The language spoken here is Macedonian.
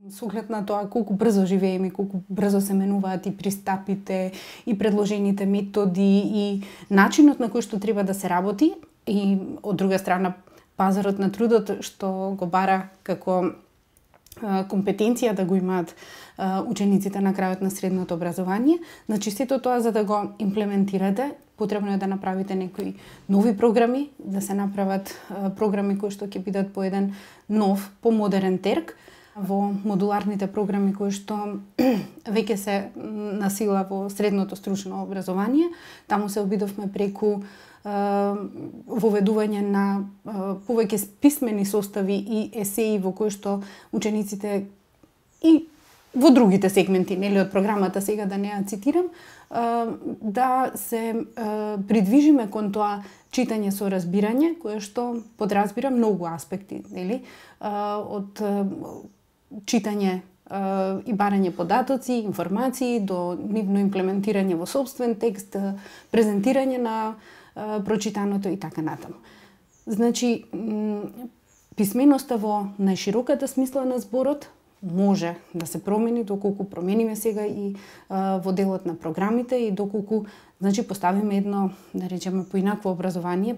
Со оглед на тоа колку брзо живееме, колку брзо се менуваат и пристапите, и предложените методи, и начинот на кој што треба да се работи, и од друга страна пазарот на трудот што го бара како компетенција да го имаат учениците на крајот на средното образование. Значи сето тоа за да го имплементирате, потребно е да направите некои нови програми, да се направат програми кои што ќе бидат по еден нов, помодерен терк. Во модуларните програми кои што веќе се на сила во средното стручно образование, таму се обидовме преку воведување на повеќе писмени состави и есеи во кои што учениците и во другите сегменти, нели, од програмата, сега да не ја цитирам, да се придвижиме кон тоа читање со разбирање, кое што подразбира многу аспекти, нели, од читање и барање податоци, информации, до нивно имплементирање во сопствен текст, презентирање на прочитаното и така натаму. Значи, писменоста во најшироката смисла на зборот може да се промени доколку промениме сега и во делот на програмите и доколку, значи, поставиме едно, да речеме, поинакво образование